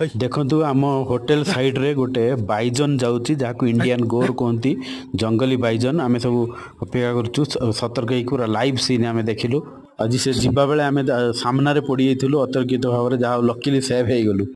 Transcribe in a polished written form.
ଦେଖନ୍ତୁ, ଆମ ହୋଟେଲ ସାଇଡ଼ରେ ଗୋଟେ ବାଇଜନ ଯାଉଛି, ଯାହାକୁ ଇଣ୍ଡିଆନ ଗୋର କୁହନ୍ତି, ଜଙ୍ଗଲୀ ବାଇଜନ। ଆମେ ସବୁ ଅପେକ୍ଷା କରୁଛୁ ସତର୍କ ହେଇକି। ପୁରା ଲାଇଭ୍ ସିନ୍ ଆମେ ଦେଖିଲୁ ଆଜି। ସେ ଯିବା ବେଳେ ଆମେ ସାମ୍ନାରେ ପଡ଼ିଯାଇଥିଲୁ ଅତର୍କିତ ଭାବରେ, ଯାହା ଲକିଲି ସେଭ୍ ହେଇଗଲୁ।